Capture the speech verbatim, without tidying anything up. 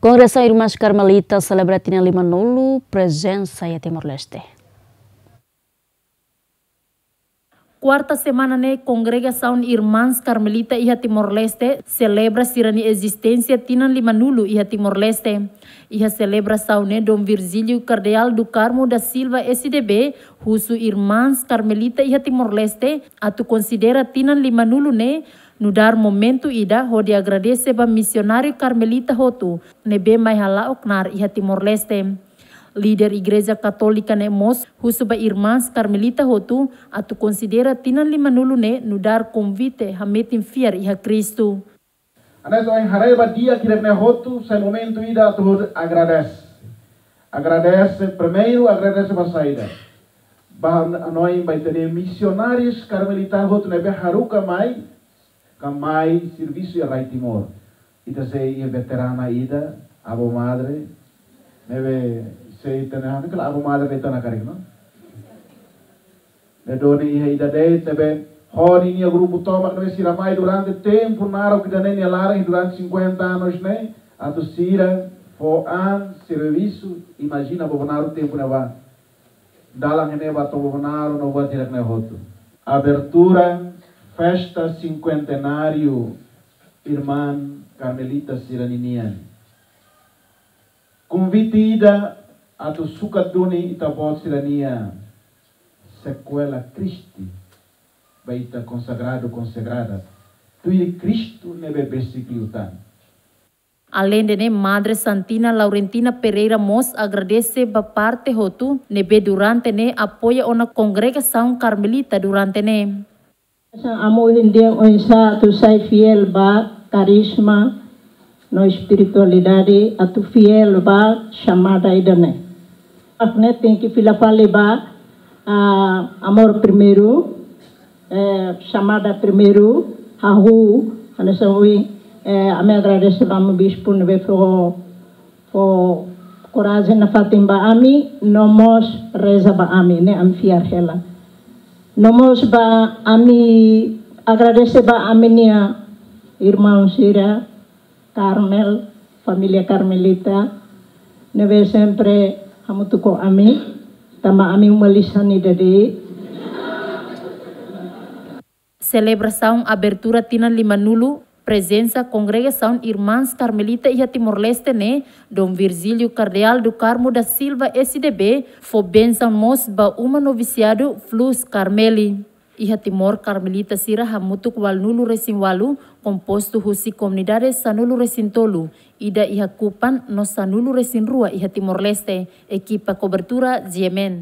Kongregasaun Irmãs Karmelita selebra tinan limanulu prezensa iha Timor-Leste. Kuarta semana ne'e, Kongregasaun Irmãs Karmelita iha Timor-Leste selebra sira-nia ezisténsia tinan limanulu iha Timor-Leste. Iha selebrasaun ne'e, Dom Virgílio Cardeal do Carmo da Silva, S D B, husu Irmãs Karmelita iha Timor-Leste atu konsidera tinan limanulu ne'e nu'udar momentu ida hodi agradese ba misionáriu karmelita hotu ne'ebé mai hala'o knaar iha Timor-Leste. Líder Igreja Katólika ne'e mós husu ba Irmãs Karmelita hotu atu konsidera tinan limanulu ne'e nu'udar konvite hametin fiar iha Kristu. Hanesan ohin haree ba di'ak ida-ne'e hotu, sai momentu ida atu agradese. Agradese, primeiru agradese ba saida? Ba hanoin ba ita-nia misionárius karmelita hotu ne'ebé haruka mai, ka mai servisu iha rai Timor. Ita sei iha veterana ida, avó madre, ne'ebé sei ita-nia, ha'u hanoin karik avó madre de'it ona karik, no? Ne'e duni iha ida de'it, ne'ebé ho ninia grupu tomak ne'ebé sira mai durante tempu naruk ida-ne'e nia laran durante cinquenta anos ne'e, atu sira fó an servisu, imajina ba Bobonaro tempu ne'ebá. Dalan ne'ebá to'o Bobonaro no buat hirak-ne'e hotu. Abertura festa cinquentenário Irmã Carmelita sira-ninian. Konvite ida atu sukat duni ita-boot sira-nia Sequela Christi ba ita konsagradu, konsagrada, tuir Kristu ne'ebé besik liután. Aleinde ne'e, Madre Santina Laurentina Pereira mós agradese ba parte hotu ne'ebé durante ne'e apoia ona Kongregasaun Karmelita durante ne'e. Hanesan ami ohin dehan oinsá atu sai fiél ba karisma no espiritualidade, atu fiél ba xamada ida-ne'e. Ida-ne'e tenke fila fali ba, ah, amor primeiru, eh, xamada primeiru, hahú, hanesan ohin, eh, ami agradese ba Amu Bispu ne'ebé fó, fó korajen nafatin ba ami, no mós reza ba ami, ne'e ami fiar hela. No mós ba ami agradese ba ami-nia irmaun sira, Karmel, família Karmelita, ne'ebé sempre hamutuk ho ami, tanba ami uma lisan ida de'it. Selebrasaun abertura tinan limanulu prezensa Kongregasaun Irmãs Karmelita iha Timor-Leste ne'e, Dom Virgílio Cardeal do Carmo da Silva, S D B, fó bensaun mós ba uma novisiadu Flus Carmeli. Iha Timor, Karmelita sira hamutuk ualunulu-resin-ualu, kompostu husi komunidade sanulu-resin-tolu, ida iha Kupang no sanulu-resin-rua iha Timor-Leste. Ekipa kobertura, G M N.